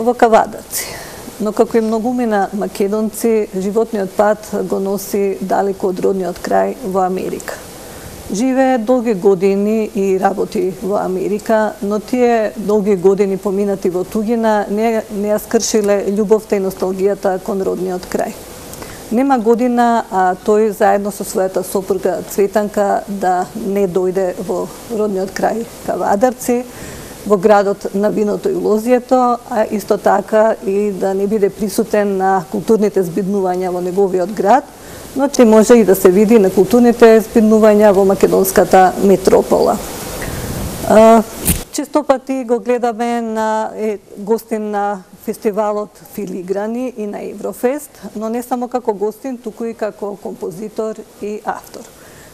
во Кавадарци, но како и многумина македонци, животниот пат го носи далеко од родниот крај во Америка. Живее долги години и работи во Америка, но тие долги години поминати во туѓина не ја скршиле љубовта и носталгијата кон родниот крај. Нема година, а тој заедно со својата сопруга Цветанка да не дојде во родниот крај Кавадарци, во градот на виното и лозието, а исто така и да не биде присутен на културните збиднувања во неговиот град, но че може и да се види на културните збиднувања во македонската метропола. Често пати го гледаме на гостин на фестивалот Филиграни и на Еврофест, но не само како гостин, туку и како композитор и автор.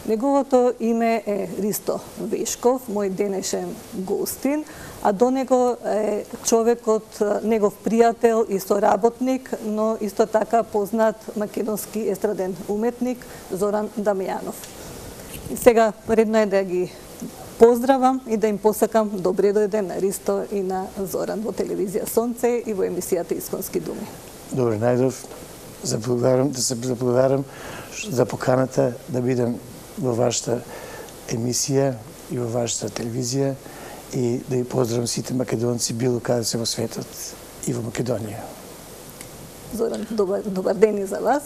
Неговото име е Ристо Вешков, мој денешен гостин, а до него е човекот, негов пријател и соработник, но исто така познат македонски естраден уметник Зоран Дамјанов. И сега редно е да ги поздравам и да им посакам добре дојде на Ристо и на Зоран во телевизија Сонце и во емисијата Исконски думи. Добре, најдов, да се заблагодарам за поканата да бидам во вашата емисија и во вашата телевизија и да ги поздравам сите македонци било каде се во светот и во Македонија. Зоран, добар ден и за вас.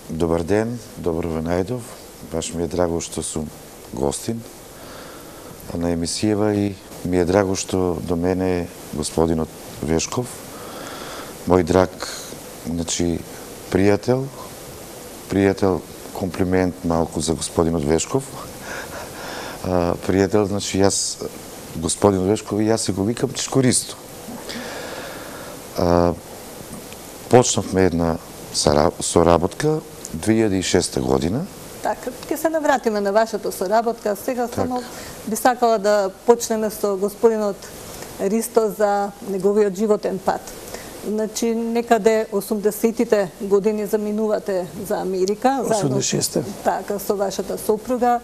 Добар ден, добро ве најдов. Баш ми е драго што сум гостин на емисијава и ми е драго што до мене е господинот Вешков, мој драг, пријател, комплимент малку за господинот Вешков. Пријател, јас, господинот Вешков, и јас се го викам Чичко Ристо. Почнавме една соработка 2006 година. Така, ќе се навратиме на вашата соработка. Сега само би сакала да почнеме со господинот Ристо за неговиот животен пат. Значи, некаде 80-тите години заминувате за Америка. 86-те. Така, со вашата сопруга.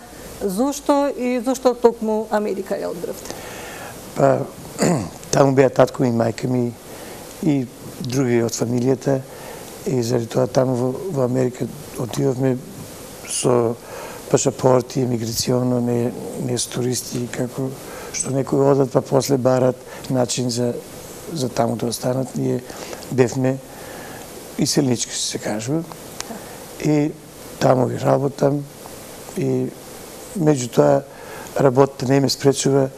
Зошто токму Америка ја одбравте? Па, таму беа татко и мајка ми и други од фамилијата и заради тоа таму во Америка отидовме со пашапорти, емиграционо, не с туристи, како што некои одат па после барат начин за таму да останат. Ние бевме иселнички, се кажува. И таму ги работам и меѓутоа работата не ме спречува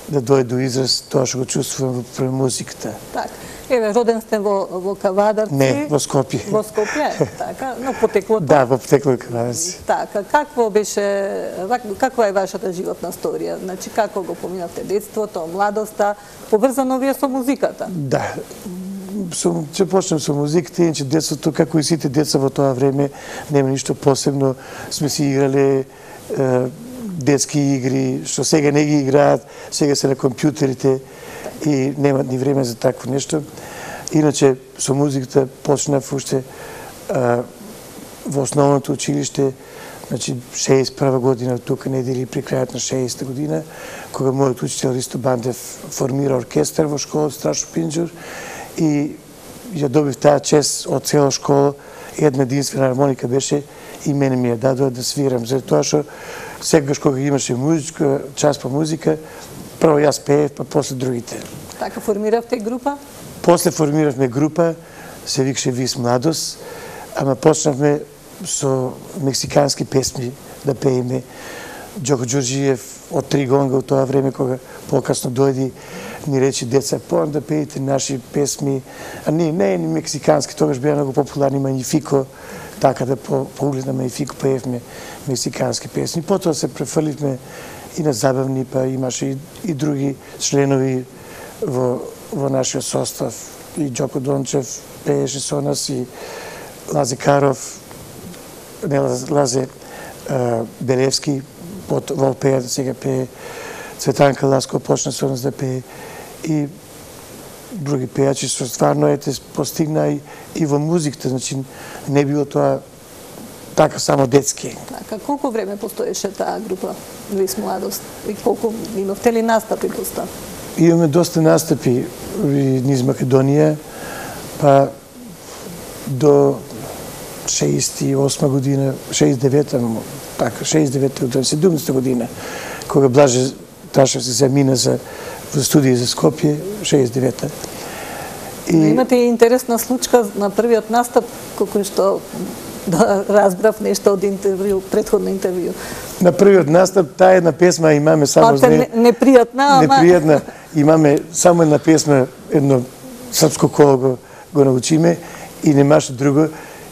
да дојде до израз тоа што го чувствувам во музиката. Така. Еве, роден сте во Кавадарци. Не, во Скопје. Во Скопје, така, но потеклото. Да, во потекло Кавадарци. Така, каква е вашата животна сторија? Значи, како го поминавте детството, младоста, поврзано вие со музиката? Да. Ќе почнем со музиката, иначе детството, како и сите деца во тоа време, нема ништо посебно. Сме си играле детски игри, што сега не ги играат, сега се на компјутерите и немат ни време за такво нешто. Иначе, со музиката почнав уште во основното училиште, значи 61 година, тука недели при крајот на 60 година, кога мојот учител Ристо Бандев формира оркестар во школа Страшо Пинџур и ја добив таа чест од цела школа. Една единствена хармоника беше и мене ми ја дадоа да свирам, заради тоа што секогаш кога имаше музичка, час по музика, прво јас пеев, па после другите. Така формиравте група? После формиравме група, се викаше Вис Младост, ама почнавме со мексикански песми да пееме. Џоко Ѓорџиев од Тригонга од тоа време, кога покасно дојди, ни рече деца, појам да пеете наши песми, а не ни мексикански, тогаш беа многу популарни Манифико, така да по углед на Манифико пеевме мексикански песни. Потоа се префрливме и на забавни, па имаше и други членови во нашиот состав. И Џоко Дончев пееше со нас, и Лазе Каров, Лазе Белевски, во пеја да сега пее, Цветанка Ласко почна со нас да пее и други пејачи што стварно постигна и во музиката, значи не било тоа така само детски. Така, колку време постоеше таа група Вис Младост и колку имавте ли настапи поста? имаме доста настапи низ Македонија, па до 68 година, 69-та, така, 69-та, до 70-та година, кога Блаже Ташевски замина за студија за Скопје, 69-та. Имате интересна случка на првиот настап, колку што да разбрав нешто од интервју, претходно интервју. На првиот настап, таа една песма имаме само за непријатна, непријатна, имаме само една песма, едно српско коло го научиме и немаше друго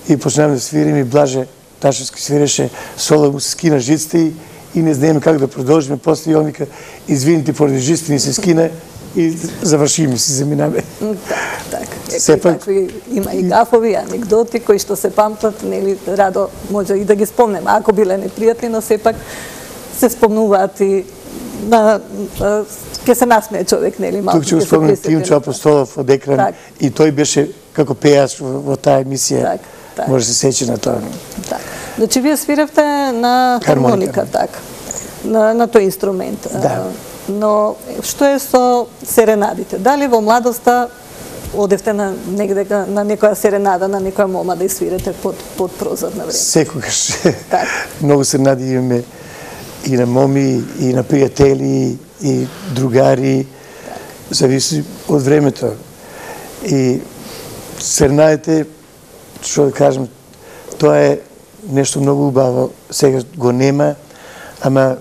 и почнаваме да свириме и Блаже Ташевски свиреше, соло му се скина жиците и не знаеме как да продолжиме, после и он вика, извините, поради жиците ни се скина и завршиме, си заминаме. Така. Има и гафови, анекдоти кои што се памтат, нели, радо може и да ги спомнем, ако биле непријатни, но сепак се спомнуваат и ке се насмее човек, нели, малку. Тук ќе го спомнем Тимчо Апостолов од екран и тој беше како пејач во таа емисија. Може да се сече на тоа. Значи, вие свиревте на хармоника, така, на тој инструмент. Но што е со серенадите? Дали во младоста одевте на некоја серенада, на некоја мома да свирете под прозор на време? Секогаш. Многу серенади имаме и на моми, и на пријатели, и другари. Зависи од времето. И серенадите, што да кажем, тоа е нешто многу убаво. Сега го нема, ама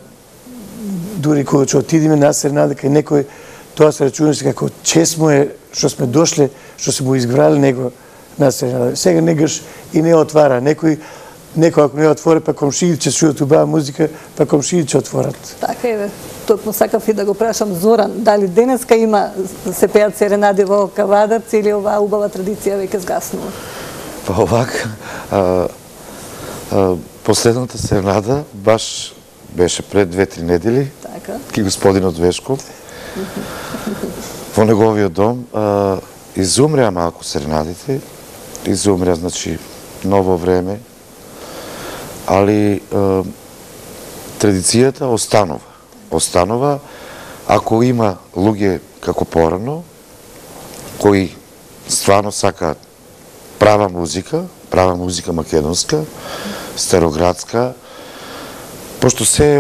дури кога ќе отидеме на серенада кај некој, тоа се рачуна како чест му е што сме дошле, што се му избрали него на серенада. Сега негаш и не отвара. Некој ако не отвори, па комшиите ќе чујат убава музика, па комшиите ќе отворат. Така е, токму сакав и да го прашам Зоран, дали денеска има се пеат серенади во Кавадарц или оваа убава традиција веќе згаснува? Па овака, последната серенада баш беше пред 2-3 недели, ки господинот Вешков, во неговиот дом, изумреа малку серенадите, изумреа, значи, ново време, али традицијата останува. Останува, ако има луѓе како порано, кои стварно сакаат права музика македонска, староградска, пошто се е,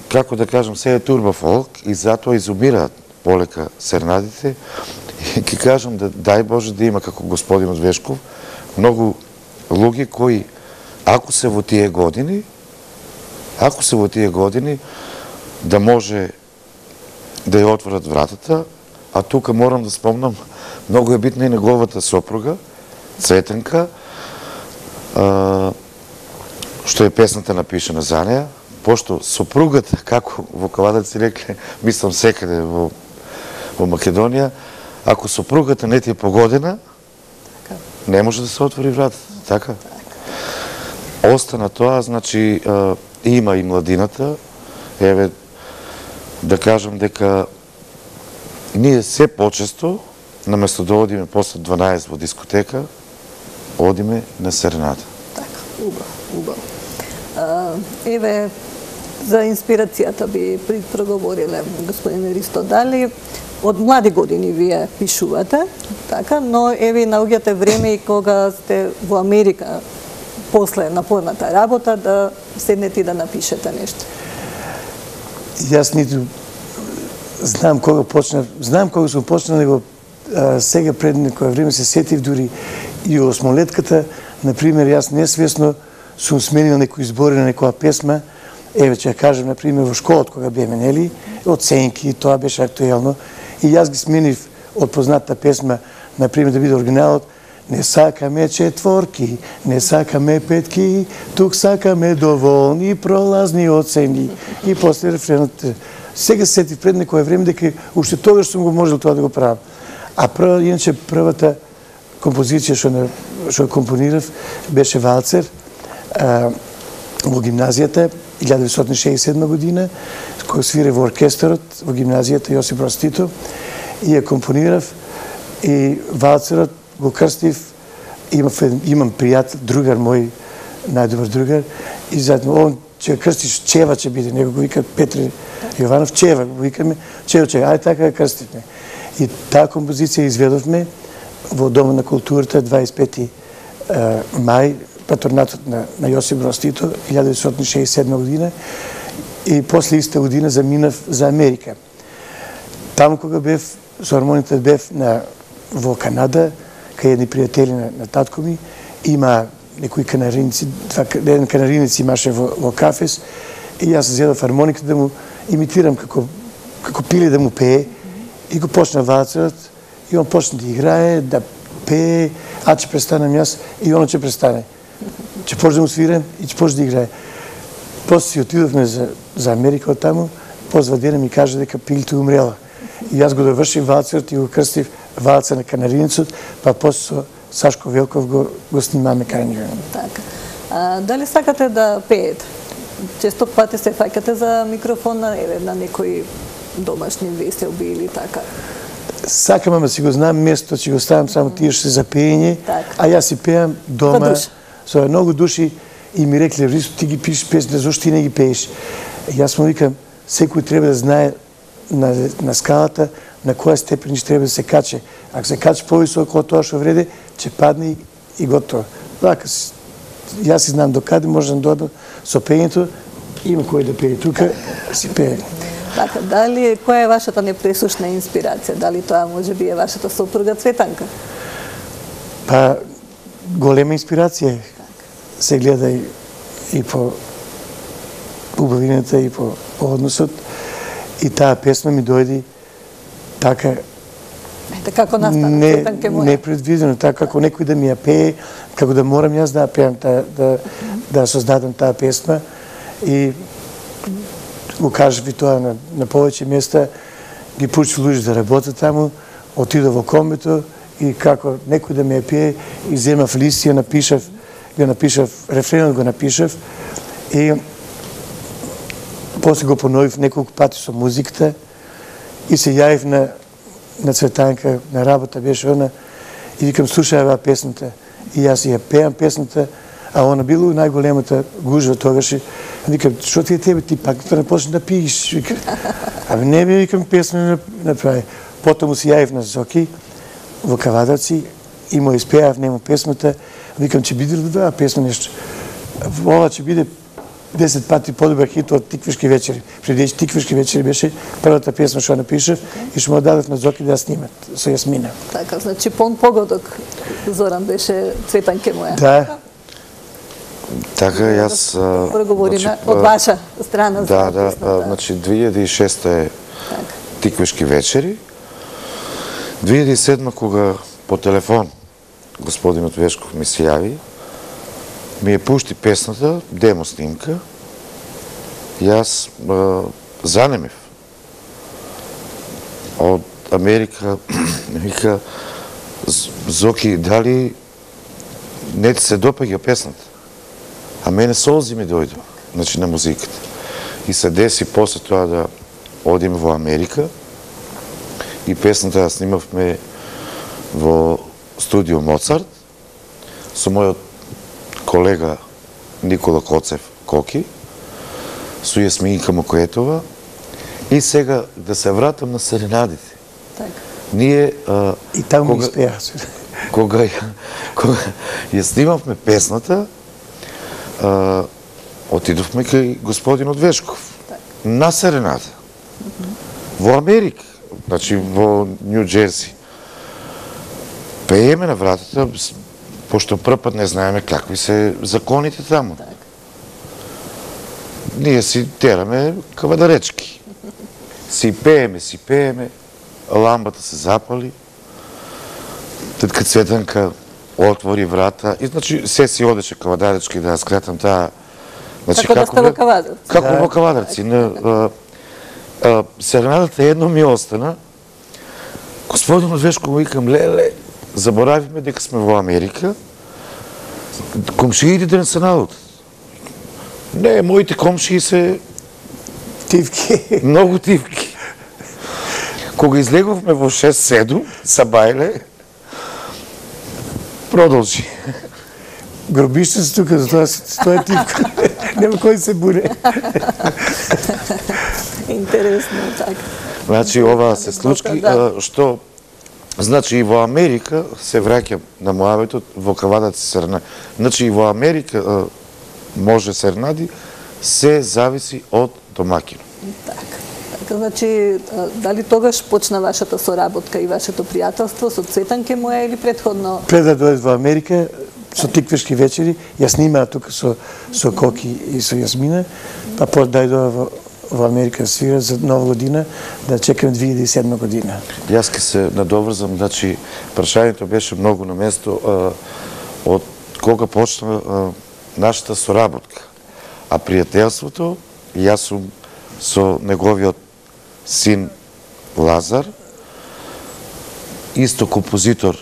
како да кажам, се е турба фолк и затоа изумираат полека серенадите. И ќе кажам да дај Боже да има како господинот Вешков многу луѓе кои ако се во тие години да може да ја отворат вратата, а тука морам да спомнам, многу е битна и неговата сопруга, Цветенка, што е песната напишана за неја, пошто сопругата, како во Кавадарци рекле, мислам секаде во Македонија, ако сопругата не ти е погодена, не може да се отвори вратата, така? Остана тоа, значи, има и младината, еве, да кажам дека ние се почесто, наместо да одиме после 12 во дискотека, одиме на серенада. Така, убаво. Еве, за инспирацијата би проговориле господин Ристо, дали од млади години вие пишувате, така, но еве наоѓате време и кога сте во Америка, после напорната работа, да седнете и да напишете нешто? Јас ниту знам кога сум почнал, него сега пред некој време се сетив дури и осмолетката, например, јас несвесно сум сменил некои збори на некоја песма, еве ќе ја кажем, например, во школот кога беме, нели, оценки, тоа беше актуелно, и јас ги сменив од познатата песма, например, да биде оригиналот, не сакаме четворки, не сакаме петки, тук сакаме доволни пролазни оцени. И после рефренот. Сега се сетив пред некој време дека уште тогаш сум го можел тоа да го правам. А иначе првата композиција што компонирав беше валцер во гимназијата 1967 година, кој свире во оркестарот во гимназијата Јосип Брз Тито, и ја компонирав и валцерот го крстив. Имам пријател, другар мој, најдобар другар, и заедно он ќе крстиш, Чева ќе биде, него го вика Петре Јованов, Чева, го викаме, Чева, ајде така ја крстиме. И таа композиција изведовме во Домот на културата 25 мај, патронатот на Јосип Броз Тито, 1967 година, и после иста година заминав за Америка. Таму кога бев, со хармонијата бев во Канада, кај едни пријатели на татко ми, има некои канариници, еден канаринец имаше во Кафес, и јас зедов хармониката да му имитирам како пиле да му пее, и го почна валцерот, и он почна да играе, да пее, а ќе престанам јас, и оно ќе престане. Ќе почне да му свирам и ќе почне да играе. После си отидовме за Америка од таму, позва дена ми каже дека пилето умрела. И јас го довршив валцерот и го крстив валца на канаринецот, па после со Сашко Велков го снимаме кај него. Така. Дали сакате да пеете? Често пати се фаќате за микрофон на некои домашни веселби или така? Сакам, ама си го знам место, ќе го ставам само тие што се за пеење, а јас си пеам дома со многу души и ми рекле, Рисо, ти ги пишеш песни, зашто ти не ги пееш? Јас му викам, секој треба да знае на скалата на која степен треба да се каче. Ако се каче повисоко од тоа што вреде, ќе падне и готово. Така, јас си знам докаде можам да додам со пењето, има кој да пее тука, си пее. Така, дали, која е вашата непресушна инспирација? Дали тоа може би е вашата сопруга Цветанка? Па, голема инспирација се гледа и по убавината, и по односот. И таа песна ми дојди така како настана, Цветанке моја. Непредвидено, така како некој да ми ја пее, како да морам јас да ја пеам, да создадам таа песна. И го кажав и тоа на повеќе места, ги пуштив луѓе да работат таму, отидов во комбито и како некој да ми ја пее, и земав лист, ја напишав, рефренот го напишав и после го поновив неколку пати со музиката и се јавив на Цветанка, на работа беше она, и викам, слушај оваа песната. И јас ја пеам песната, а она било најголемата гужва тогаш. Викам, што ти е тебе, ти пак не почне да пиеш? Викам, ами не би, викам, песна направи. Потом му се јавив на Зоки во Кавадарци и му испеав нему песната. Викам, ќе биде ли да песна нешто? Ова ќе биде 10 пати подобар хит од Тиквишки вечери. Преди Тиквишки вечери беше првата песна што напишав и што му дадов на Зоки да ја снимат со Јасмина. Така, значи погодок Зоран беше Цветанке моја. Да. Така, јас... Проговориме од ваша страна. Да, значи 2006 е Тиквишки вечери. 2007 кога по телефон господинот Вешков ми се јави, ми ја пушти песната, демо снимка, јас занемев. Од Америка вика, Зоки, дали не ти се допаѓа песната? А мене солзи ми дојдо, значи на музиката. И се деси после тоа да одиме во Америка и песната ја снимавме во студио Моцарт со мојот колега Никола Коцев Коки, со Јасминка Мокоетова. И сега да се вратам на серенадите. Ние... И таму ми испеа. Кога ја снимавме песната, отидовме кај господинот Вешков на серенада. Во Америка, значи во Нью Джерси. Пееме на вратата, пошто првпат не знаеме какви се законите таму. Ние си тераме кавадаречки. Си пееме, ламбата се запали, тетка Цветанка отвори врата и значи се си одеше кавадаречки, да скратам таа... Како да сте во Кавадарци. Како во Кавадарци. Серенадата едно ми остана. Господинот Вешков викам, леле, заборавивме дека сме во Америка, комшиите да не се налутат. Не, моите комшии се... Тивки. Многу тивки. Кога излеговме во 6-7, са бајле, продолжи. Гробиште се тука, за тоа е тивка. Нема кој се буре. Интересно, така. Значи, ова се случки, што значи и во Америка се враќам на муабетот во кавадат сернади. Значи и во Америка може сернади, се зависи од домакинот. Така, значи, дали тогаш почна вашата соработка и вашето пријателство со Цветанке Моја или предходно? Пред да дојдет во Америка, со тиквешки вечери, ја снимаа тука со Коки и со Јасмина, па дојдоа во Америка свира за Нова година, да чекаме 2007 година. Јас ке се надоврзам, значи, прашањето беше многу на место од кога почна нашата соработка. А пријателството, јас сум со неговиот син Лазар, исто композитор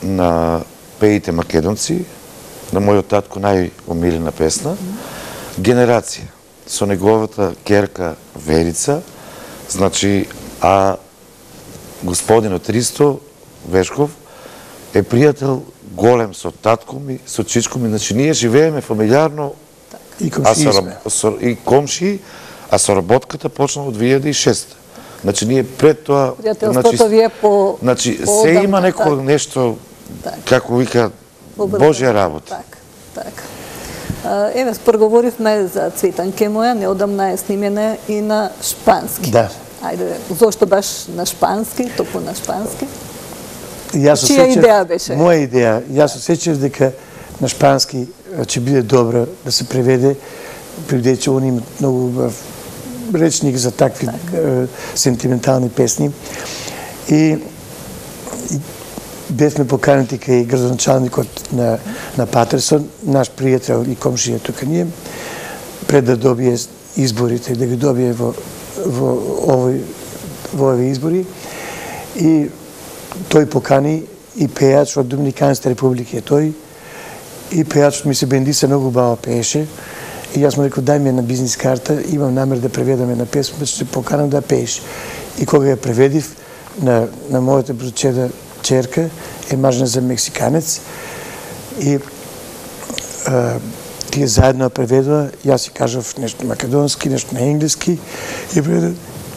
на Пеите македонци, на мојот татко најомилена песна, Генерација, со неговата керка Верица, значи, а господинот Ристо Вешков е пријател голем со татко ми, со чичко ми, значи ние живееме фамилиарно и комшии сме. И комшии, а соработката почна од 2006. Значи ние пред тоа, пријателството ви е по значи се има некој нешто, како вика, Божја работа. Така. Еве, проговоривме за Цветанке Моја, неодамна е снимена и на шпански. Да. Ајде, зошто баш на шпански, токму на шпански? Чија идеја беше? Моја идеја. Јас осеќав дека на шпански ќе биде добро да се преведе, бидејќи они имаат многу убав речник за такви сентиментални песни. И бевме поканети кај градоначалникот на Патерсон, наш пријател и комшија тука ние, пред да добие изборите, да ги добие во овие избори. И тој покани и пејач од Доминиканската република, тој и пејачот ми се Бендиса многу баво пееше. И јас му реков, дај ми една бизнис карта, имам намер да преведам една песма, ќе поканам да пееш. И кога ја преведив на мојата бручеда черка, е мажна за мексиканец, и тие заедно преведува, јас си кажав нешто македонски, нешто на енглески, и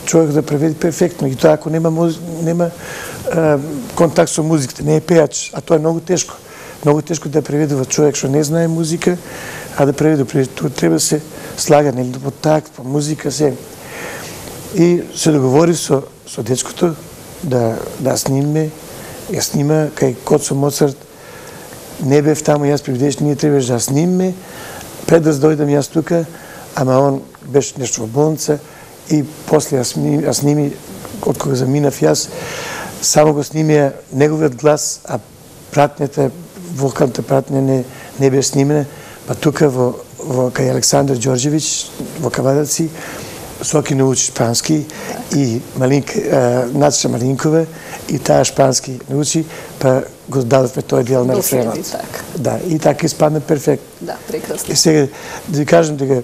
човек да преведи перфектно. И тоа ако нема контакт со музиката, не е пејач, а тоа е многу тешко. Многу тешко да преведува човек што не знае музика, а да преведе, тоа треба да се слага, нели, по такт, по музика, се. И се договори со дечкото да сниме, ја снима кај Коцо Моцарт, не бев таму, јас преведеш, ние требаше да сниме, пред да дојдам јас тука, ама он беше нешто во болница, и после ја сними, од кога заминав јас, само го снимија неговиот глас, а пратњата, вокалната пратња не беше снимена, па тука кај Александар Ѓорđević во Кавадаци, Соки научи шпански и Нацша Малинкова и таа шпански научи, па го дадовме тој дел на рефренот. Да, и така испадна перфект. Да, прекрасно. И сега да ви кажам дека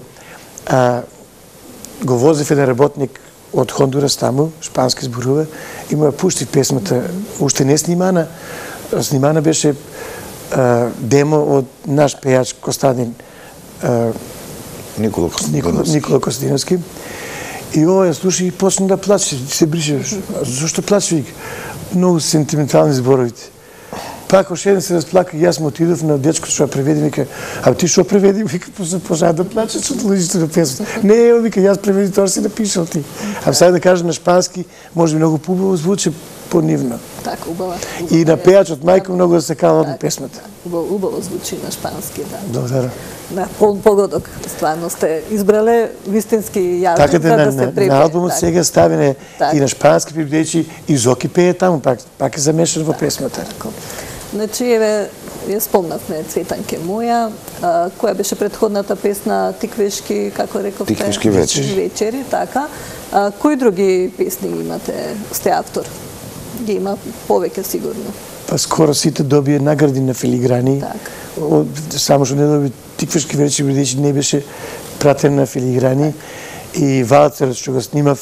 го возев еден работник од Хондурас таму, шпански зборува, и му ја пуштив песмата, уште не снимана, снимана беше демо од наш пејач Костадин Никола Костадиновски. И ова ја слуша и почна да плаче, се брише. Зошто плаче? Вика, многу сентиментални зборовите. Пак още еден се разплака и јас му отидов на дечкото што ја преведи, вика, а ти што преведи? Вика, пожа да плаче со луѓето на песната. Не, вика, јас преведи, тоа си напишал ти. А сега да кажа на шпански, може би многу побаво звучи, понивно. Така, убава. И на пејачот мајка многу да се кава од песмата. Убаво звучи на шпански, да. Благодарам. Да, погодок, стварно сте избрале вистински јазик да се препее. На албумот сега ставине и на шпански прибдејќи и Зоки пее таму, пак е замешан во песмата. Значи, еве, ја спомнавме Цветанке Моја, која беше предходната песна Тиквешки, како рековте? Тиквешки вечери, така. Кои други песни имате, сте автор? Ги има повеќе сигурно. Па скоро сите добие награди на филиграни. Само што не доби Тиквешки вечери, бидејќи не беше пратен на филиграни. И валцерот што го снимав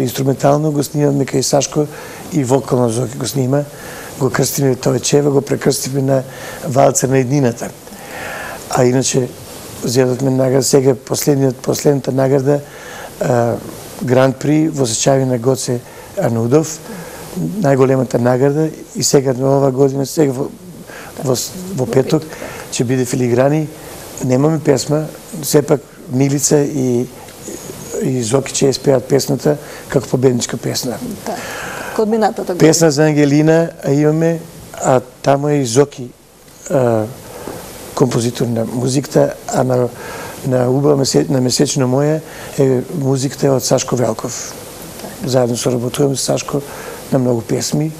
инструментално, го снимавме кај Сашко и вокално Зоки го снима. Го крстиме Товечева, го прекрстиме на валцер на еднината. А иначе зедовме награда, сега последната награда Гран При во сечави на Гоце Арнудов, најголемата награда, и сега на ова година, сега во петок, ќе биде Филиграни. Немаме песма, сепак Милица и Зоки ќе спеат песната како победничка песна. Код минатата година. Песна за Ангелина имаме, а таму е и Зоки композитор на музиката, а на Месечно моје е музиката од Сашко Велков. Заедно соработуваме с Сашко на многу песми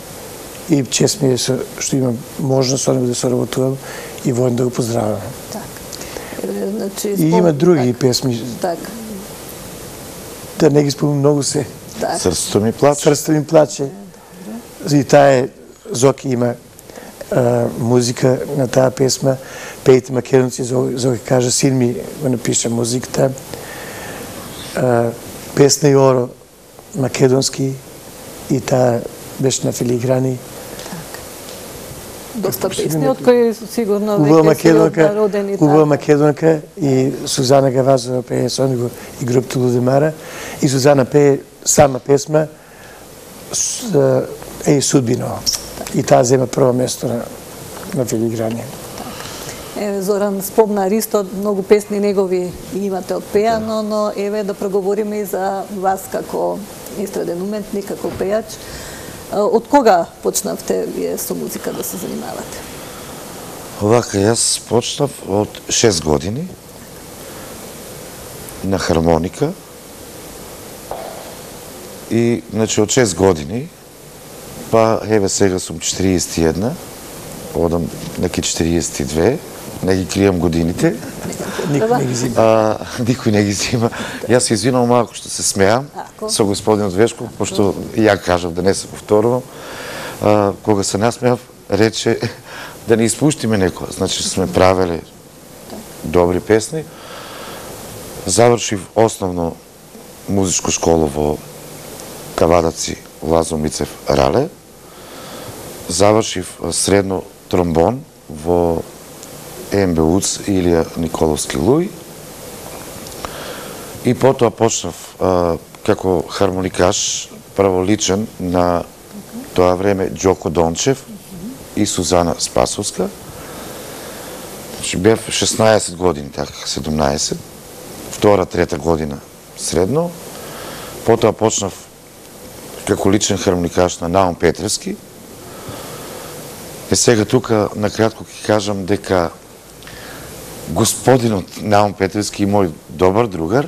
и чест ми е што имам можност со него да соработувам и војно да го поздравам. И има други песми. Да не ги спомнам, многу се. Срцето ми плаче. Срцето ми плаче. И таа Зоки има музика на таа песма. Пејте македонци, Зоки кажа, син ми го напиша музиката. Песна и оро македонски, и таа беше на Филиграни. Доста песни, од кои сигурно веќе си родени. Убава македонка, и Сузана Гавазова пее со него и групата Лудемара, и Сузана пее сама песма Еј судбино. И таа зема прво место на Филиграни. Зоран спомна Ристо, многу песни негови имате од пеано, но еве да проговориме и за вас како естраден уметник, како пејач. Од кога почнавте вие со музика да се занимавате? Овака, јас почнав од 6 години на хармоника, и значи од 6 години, па еве сега сум 41, одам неки 42, не ги кријам годините. Никој не ги зима. Никој не ги зима. Јас се извинувам малку што се смеам со господинот Вешков, пошто ја кажав да не се повторувам. Кога се насмеав, рече да не испуштиме некоја. Значи сме правеле добри песни. Завршив основно музичко школа во Кавадаци, Лазо Мицев Рале. Завршив средно тромбон во МБУЦ Илија Николовски Луј, и потоа почнав како хармоникаш праволичен на тоа време Џоко Дончев и Сузана Спасовска. Бев 16 години, така 17, втора, трета година средно. Потоа почнав како личен хармоникаш на Наум Петревски. И сега тука накратко ќе кажам дека господинот Наум Петревски, мој добар другар,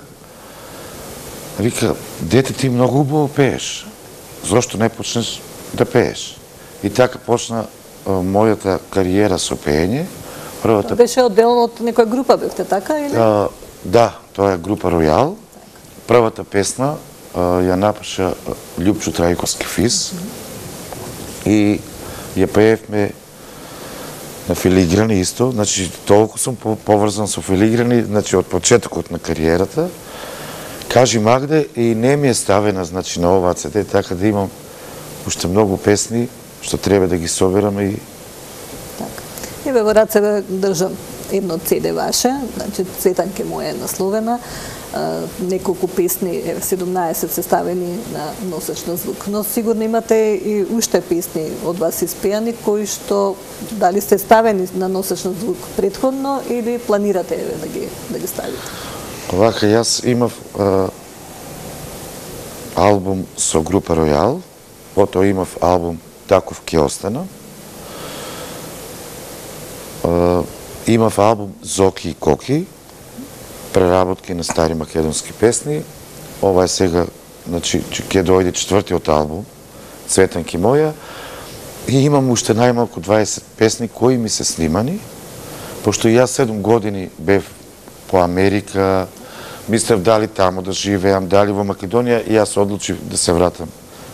вика, дете, ти многу убаво пееш. Зошто не почнеш да пееш? И така почна мојата кариера со пеење. Беше оддел од некоја група, бевте така или? Да, тоа е група Ројал. Првата песна ја напиша Љупчо Трајковски Фис, и ја пеевме на Филиграни исто. Значи, толку сум поврзан со Филиграни, значи, од почетокот на кариерата. Кажи Магде, и не ми е ставена, значи, на оваа CD, така да имам уште многу песни што треба да ги соберам и... Така. Еве во раце држам едно CD ваше, значи Цветанке моја е насловена, неколку песни, 17 се ставени на носеч на звук. Но сигурно имате и уште песни од вас испеани, кои што дали сте ставени на носеч на звук претходно или планирате да ги ставите? Овака, јас имав албум со група Ројал, потоа имав албум Таков ке остана, имав албум Зоки и Коки, преработки на стари македонски песни. Ова е сега, значи, ќе дојде четвртиот албум, Цветанки моја, и имам уште најмалку 20 песни кои ми се снимани, пошто јас 7 години бев по Америка, мислев дали таму да живеам, дали во Македонија, и јас одлучив да се вратам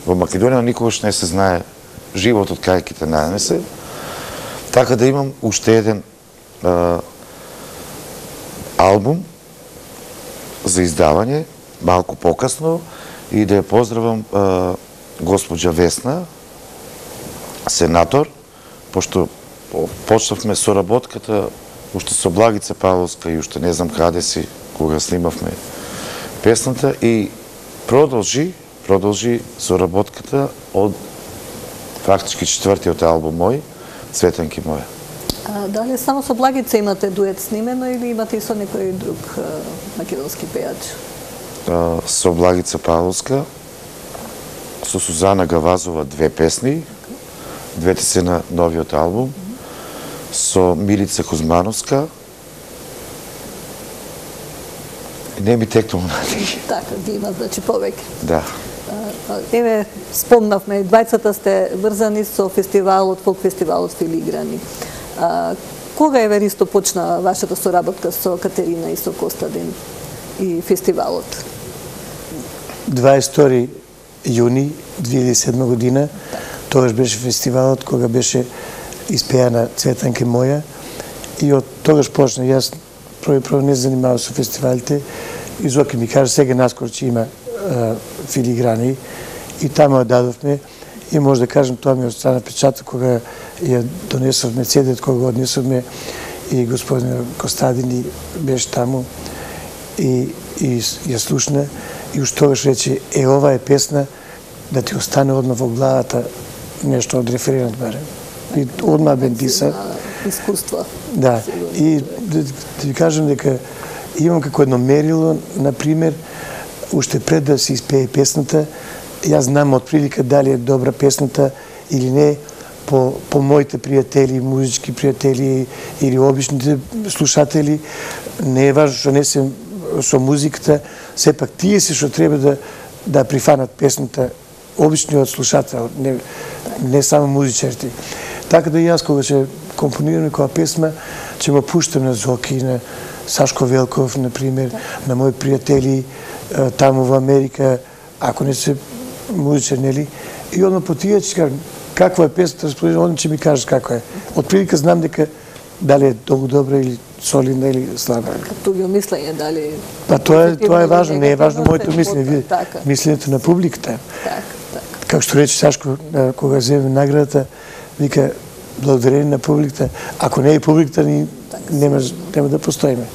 во Македонија, никогаш не се знае животот кај ќе те нанесе. Така да имам уште еден албум за издавање, малку покасно, и да ја поздравам госпоđа Весна, сенатор, пошто почнавме соработката уште со Благица Павловска и уште не знам каде си, кога снимавме песната и продолжи соработката од фактички четвртиот албум мој, Цветанки моја. Дали само со Благица имате дует снимено или имате и со некој друг македонски пејач? Со Благица Павловска, со Сузана Гавазова 2 песни, двете се на новиот албум, со Милица Кузмановска, не ми текнува надејќи. Така, ги има, значи, повеќе. Да. Еве, спомнавме, двајцата сте врзани со фестивалот, фолк фестивалот Филиграни. Кога еве Ристо почна вашата соработка со Катерина и со Костадин и фестивалот? 22 јуни 2007 година, тогаш беше фестивалот кога беше испеана Цветанка моја и од тогаш почна. Јас прво не занимавам со фестивалите и Зоки ми кажа сега наскоро че има Филиграни и таму ја дадовме и може да кажем тоа ми остана печаток кога ја донесовме CD-от, кога го однесовме и господин Костадин беше таму и ја слушна и уж тогаш рече ова е песна да ти остане одма во главата нешто од референот барем. И одма бендиса. Искуство. Да. И да ви кажем дека имам како едно мерило, например, уште пред да се испее песната, јас знам од прилика дали е добра песната или не по моите пријатели, музички пријатели или обичните слушатели. Не е важно што не се со музиката, сепак тие се што треба да прифанат песната, обичниот слушател, не само музичарите. Така да и јас кога ќе компонираме која песма, ќе го пуштам на Зоки, на Сашко Велков, например, на мои пријатели таму во Америка, ако не се музичар, нели? И одно по тие ќе кажам, каква е песната, разположена, одно ќе ми кажеш како е. Од прилика знам дека дали е долго добра или солидна или слаба. Като ги мислење дали... Па тоа е важно, не е важно моето мислење, мислењето на публиката. Како што рече Сашко, кога земе наградата, вика, благодарение на публиката. Ако не е публиката, нема да постоиме.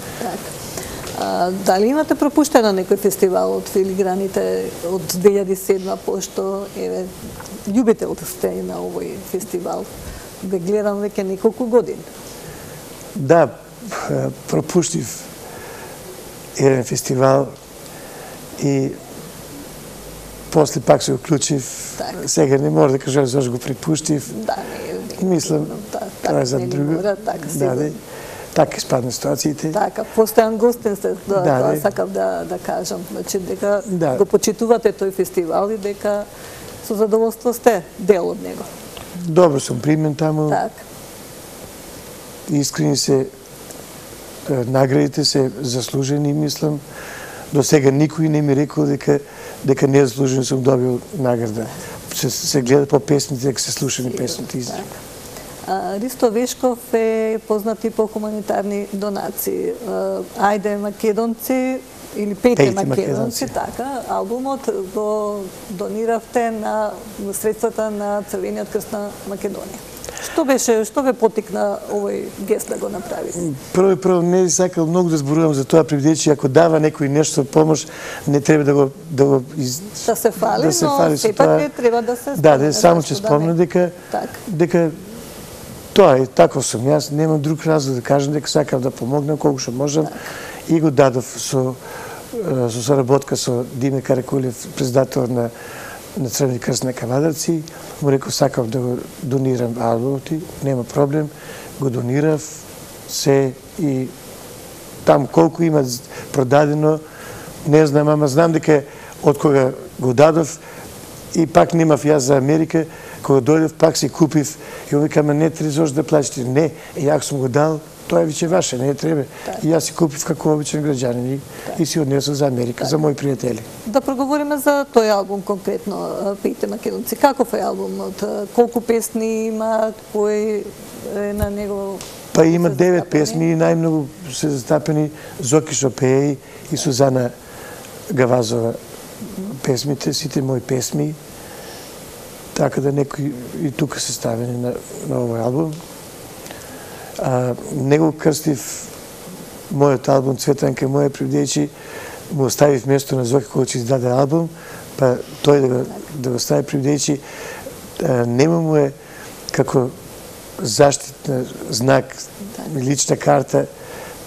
Дали имате пропуштено некој фестивал од Филиграните од 2007, пошто еве љубител сте на овој фестивал? Ве гледам веќе неколку години. Да, пропуштив еден фестивал и после пак се уклучив. Сега не може да кажам зашто го препуштив. Мислам, тоа е за друго. Така испадна ситуациите. Така, постојан гостин сте, тоа сакав да кажам. Значи, дека го почитувате тој фестивал и дека со задоволство сте дел од него. Добро сум примен таму. Така. Искрени се, наградите се заслужени, мислам. До сега никој не ми рекол дека незаслужено сум добил награда. Се гледа по песните, дека се слушани песните изреки. Ристо Вешков е познат и по хуманитарни донации. Ајде македонци или Пејте македонци, така, албумот го дониравте на средствата на Црвениот крст на Македонија. Што ве потикна овој гест да го направите? Прво не сакал многу да зборувам за тоа, предвидејќи ако дава некој нешто помош, не треба да го да се фали, но сепак не треба да се спомне. Да, само ќе спомнам дека тоа е, тако сум. Јас немам друг разлог да кажам дека сакам да помогнам колку што можам и го дадов со соработка со Диме Каракулев, председател на Црвени крст на Кавадарци. Му реков сакам да го донирам албумот, нема проблем. Го донирав се и там колку има продадено, не знам, ама знам дека од кога го дадов и пак немав јас за Америка, кога дојдев пак си купив и он вика, ама не треба да плачете. Не, ја сум го дал, тоа е виќе ваше, не треба. И јас си купив како обичен граѓанин и си однесов за Америка, за мои пријатели. Да проговориме за тој албум конкретно, Пејте македонци. Каков е албумот? Колку песни има? Кој е на него? Па има 9 песни и најмногу се застапени Зоки што пее и Сузана Гавазова песмите, сите мои песми. Така да некои и тука се ставени на овој албум. Не го крстив мојот албум Цветанка моја бидејќи му оставив место на Зоки кога ќе издаде албум, па тој да го стави бидејќи нема му е како заштитна знак, лична карта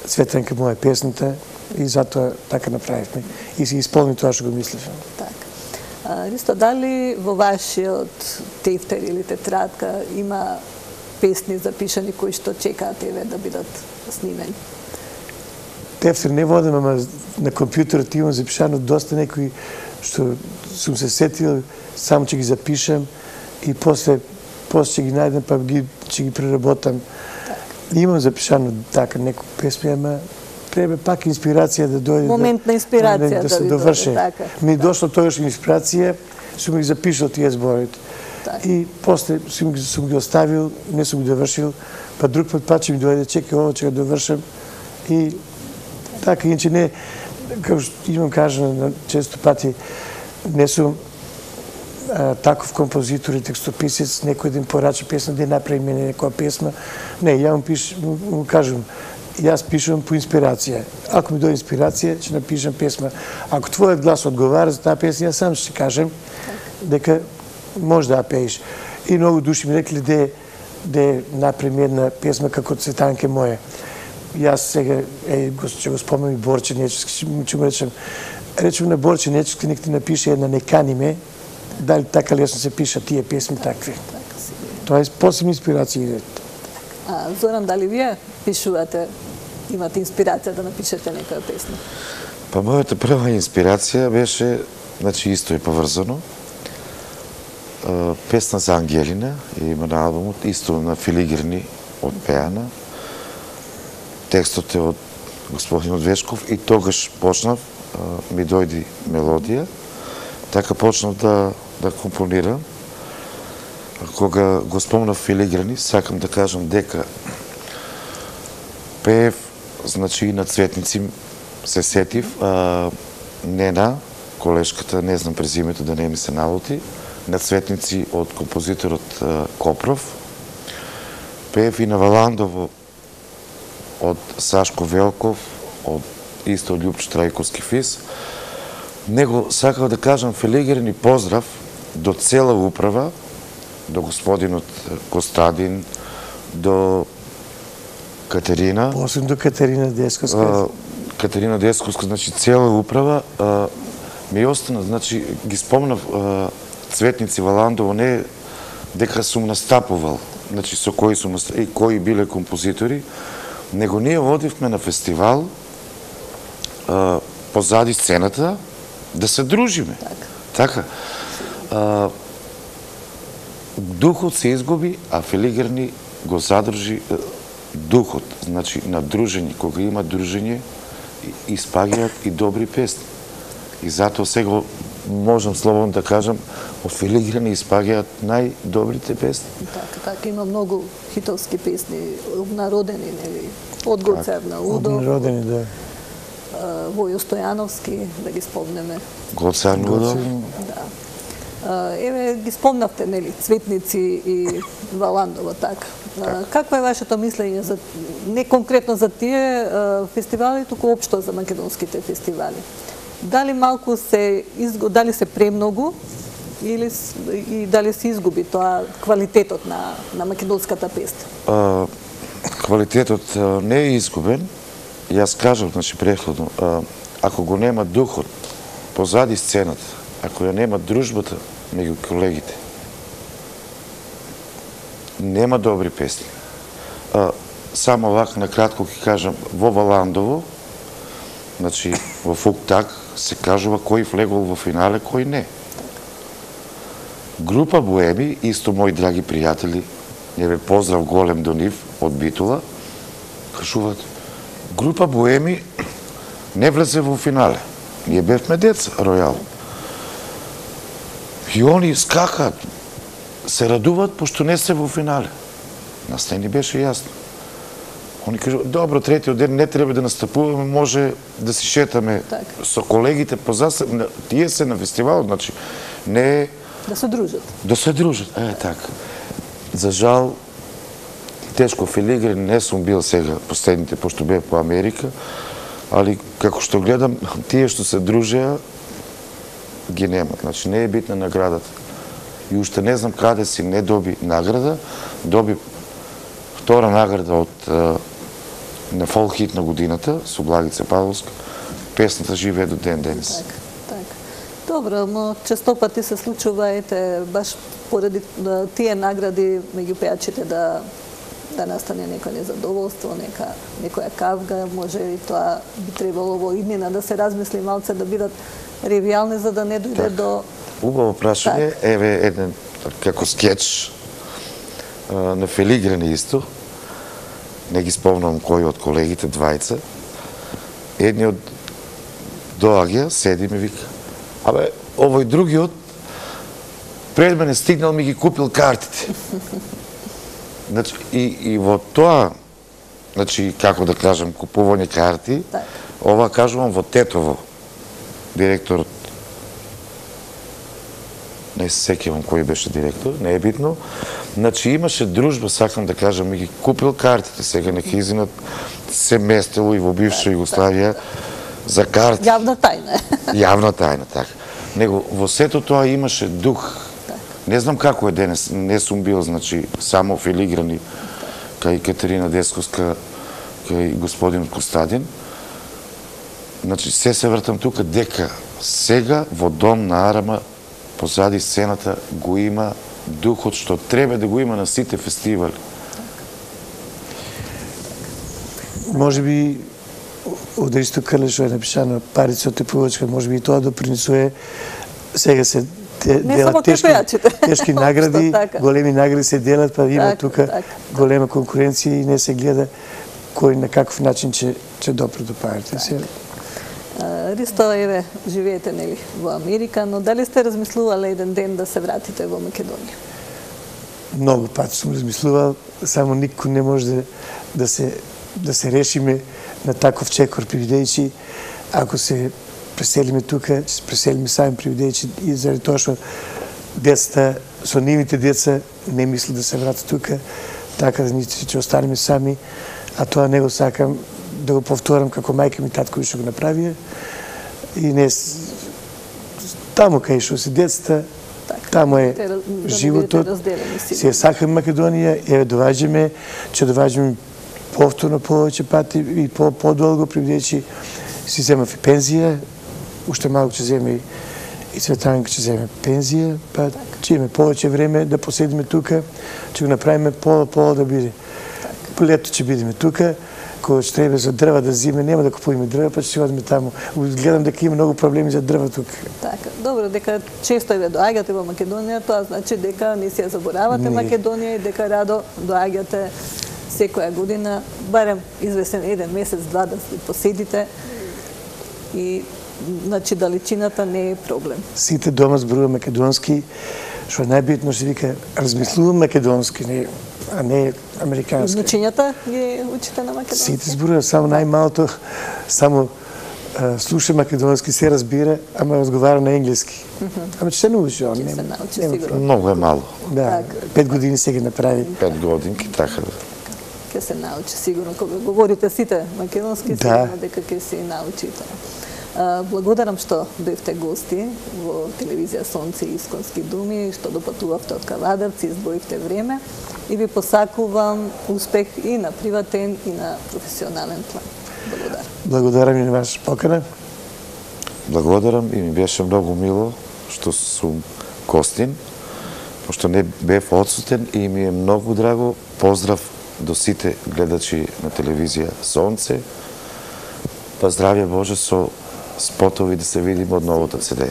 Цветанка моја песната и затоа така направивме и се исполни тоа што го мислев. Така. Ристо, дали во вашиот тефтер или тетрадка има песни запишани кои што чекаат еве да бидат снимени? Тефтер не водам, ама на компјутерот имам запишано доста некои што сум се сетил, само ќе ги запишам и после ќе ги најдам, па ќе ги преработам. Имам запишано така некои песми, ама треба пак инспирација да дојде. Момент на инспирација да се доврши. Ми дошло тогаш инспирација, сум ги запишал тие зборите. И после сум ги оставил, не сум ги довршил, па друг пат ќе ми дојде, чекај ово, ќе го довршам. И така, иначе не, како што имам кажано често пати, не сум таков композитор и текстописец, некој да им порача песна, да направи мене некоја песна. Не, ја му кажам, јас пишувам по инспирација. Ако ми дојде инспирација, ќе напишам песма. Ако твојот глас одговара за таа песна, јас сам ќе кажем дека може да ја пееш. И многу души ми рекли да направим една песма како Цветанке моја. Јас сега ќе го спомнам и Борче Нечевски, ќе му речем на Борче Нечевски, нек ти напише една "Не кани ме", дали така лесно се пишат тие песми такви. Тоа е посебна инспирација. Зоран, дали вие пишувате, имате инспирација да напишете некоја песна? Па мојата прва инспирација беше, значи исто е поврзано, песна за Ангелина, има на албумот, исто на Филиграни од пеана. Текстот е од господинот Вешков и тогаш почнав, ми дојди мелодија, така почнав да компонирам. Кога го спомнав Филиграни, сакам да кажам дека пеев, значи и на Цветници се сетив, Нена, колешката, не знам презимето да не ми се налути, на Цветници од композиторот Копров, пеев и на Валандово од Сашко Велков, од исто Љупчо Трајковски ФИС. Него сакав да кажам Филиграни поздрав до цела управа, до господинот Костадин, до Катерина. Посебно до Катерина Десковска. Катерина Десковска, значи цела управа. Ми остана, значи ги спомнав Цветници Валандово, не дека сум настапувал, значи со кои сум и кои биле композитори, него ние одивме на фестивал позади сцената да се дружиме. Така. Духот се изгуби, а Филиграни го задржи духот, значи на дружење. Кога има дружење, испаѓаат и добри песни. И затоа сега можам слободно да кажам, од Филиграни испаѓаат најдобрите песни. Така, има многу хитовски песни, обнародени, нели, од Гоцерна Удо. Обнародени, да. Војо Стојановски, да ги спомнеме. Гоцерна Удо. Да. Еве, ги спомнавте, нели, Цветници и Валандово, така. Какво е вашето мислење за, не конкретно за тие фестивали, туку општо за македонските фестивали? Дали малку дали се премногу или и дали се изгуби тоа квалитетот на македонската песна? Квалитетот не е изгубен. Јас кажав, значи претходно, ако го нема духот позади сцената, ако ја нема дружбата меѓу колегите, нема добри песни. Само вака накратко ќе кажам, во Валандово, значи во Фуктак се кажува кој влегол во финале, кој не. Група Боеми, исто мои драги пријатели, еве поздрав голем до нив од Битула, кажуваат, група Боеми не влезе во финале. Ние бевме деца, Ројал. И они скакаат, се радуваат, пошто не се во финале. Нас не ни беше јасно. Они кажуваат, добро, третиот ден не треба да настапуваме, може да си шетаме со колегите позасе, тие се на фестивалот, значи не... Да се дружат. Да се дружат, така. За жал, тешко филигрен не сум бил сега последните, пошто бев по Америка, али како што гледам, тие што се дружеа, ги немат. Значи, не е битна наградата. И уште не знам каде си не доби награда, доби втора награда на фолк хит на годината, со Благица Павловска, песната живее до ден денес. Така. Добро, но често пати се случува, баш поради тие награди меѓу пејачите да настане некоја незадоволство, некоја кавга, може и тоа би требало во иднина да се размисли малце, да бидат ревијални, за да не дојде до... Убаво прашање, еве еден како скетч на филигрени исто, не ги спомнам кој од колегите, двајца, едниот доаѓа, седи ми вика, абе, овој другиот пред мене стигнал, ми ги купил картите. Значи, и во тоа, значи, како да кажам, купување карти, ова кажувам во Тетово, директорот, не се сеќавам кој беше директор, не е битно, значи имаше дружба, сакам да кажам, ми ги купил картите, сега нека изинат се местело и во бивша Југославија за карти. Јавна тајна. Јавна тајна, така. Него во сето тоа имаше дух. Не знам како е денес, не сум бил, значи, само филиграни кај Катерина Десковска, кај господин Костадин. Значи, се вртам тука дека сега во Дом на Арама позади сцената го има духот што треба да го има на сите фестивали. Може би од Ристо Крлешо е напишано Парица од Тепувачка, може би и тоа допринесува. Сега се делат тешки награди, големи награди се делат, па има тука голема конкуренција и не се гледа кој на каков начин ќе допре до парите. Ристо, еве, живеете нели во Америка, но дали сте размислувале еден ден да се вратите во Македонија? Многу пати сум размислувал, само никој не може да се решиме на таков чекор, бидејќи ако се преселиме тука, ќе се преселиме сами, бидејќи и заради тоа што децата, со нивните деца не мислат да се вратат тука, така да ќе останеме сами, а тоа не го сакам да го повторам како мајка ми, татко што го направија. И не таму кај што се децата, таму е животот. Се сакам Македонија, еве доваѓаме, ќе доваѓаме повторно повеќе пати и подолго, бидејќи си земав и пензија, уште малку ќе земе и Цветанка ќе земе пензија, па ќе имаме повеќе време да поседиме тука, ќе го направиме пола да биде. Лето ќе бидеме тука, кога ќе треба за дрва да зиме, нема да купуваме дрва, па ќе си одиме таму. Гледам дека има многу проблеми за дрва тука. Така, добро, дека често ве доаѓате во Македонија, тоа значи дека не си ја заборавате Македонија и дека радо доаѓате секоја година, барем известен еден месец, два да поседите и значи далечината не е проблем. Сите дома зборува македонски, што е најбитно што вика размислувам македонски, а не американски. Значењата ги учите на македонски? Сите зборува, само најмалото, само слуша македонски, се разбира, ама разговара на енглески. Ама ќе се научи он. Ќе се научи сигурно. Многу е мало. Да, 5 години се ги направи. 5 годинки, така да. Ќе се научи сигурно, кога говорите сите македонски, сигурно дека ќе се научите. Благодарам што бевте гости во телевизија Сонце и Исконски думи, што допатувавте од Кавадарци, избоивте време и ви посакувам успех и на приватен и на професионален план. Благодарам. Благодарам и на ваша покана. Благодарам и ми беше многу мило што сум гостин, пошто не бев одсутен и ми е многу драго. Поздрав до сите гледачи на телевизија Сонце. Па здравје Боже со спотови да се видиме од новото CD.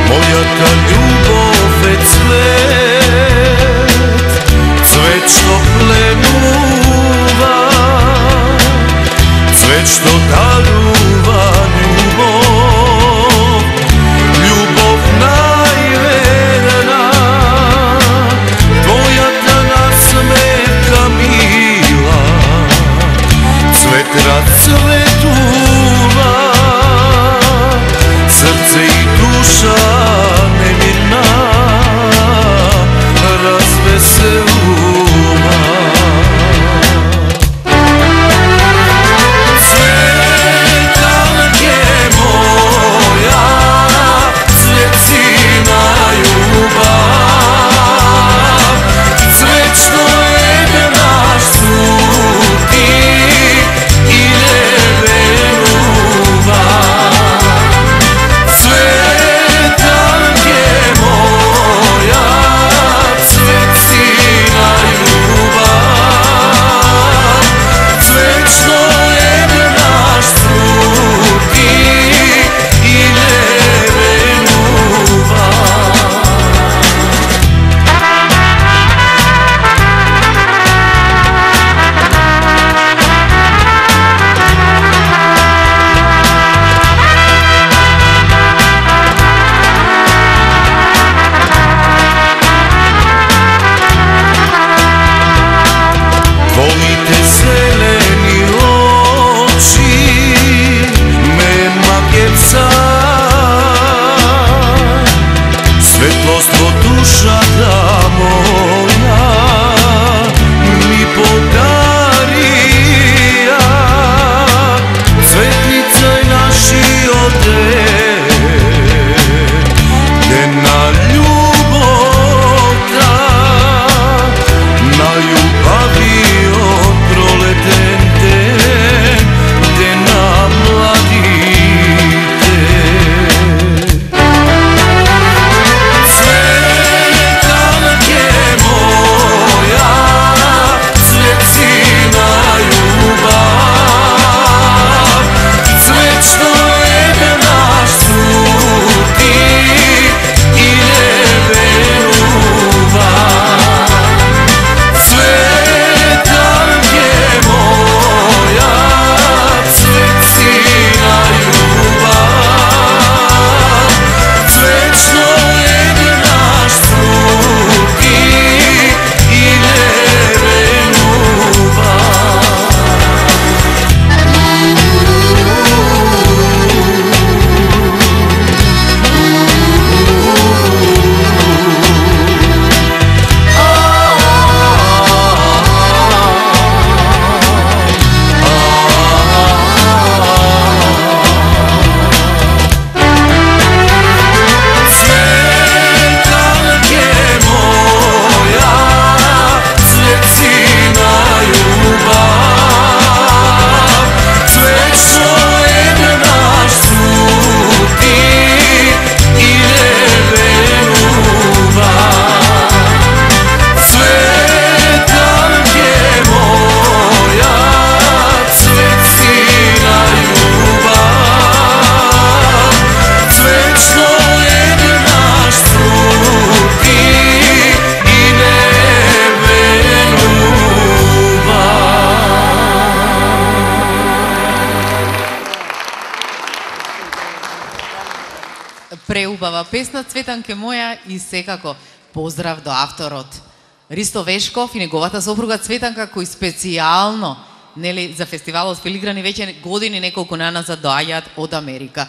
Мојата љубов е цвет, цвет што пленува Светлост во душата моја ми подарија, светлица е нашиот ден на љубовта, најубавиот пролетен ден, ден на младите. Цветанке моја, цветцина љубав, цвечно е наш сути и не верува. Цветанке моја, цветцина љубав, цвечно е наш сути и не верува. Цветанке моја, цветцина љубав, цвечно е наш сути и не верува. Цветанке моја, цветцина љубав, цвечно е наш сути и не верува. Преубава песна Цветанке моја и секако поздрав до авторот Ристо Вешков и неговата сопруга Цветанка, кои специјално нели за фестивалот Филиграни веќе години неколку назад доаѓаат од Америка.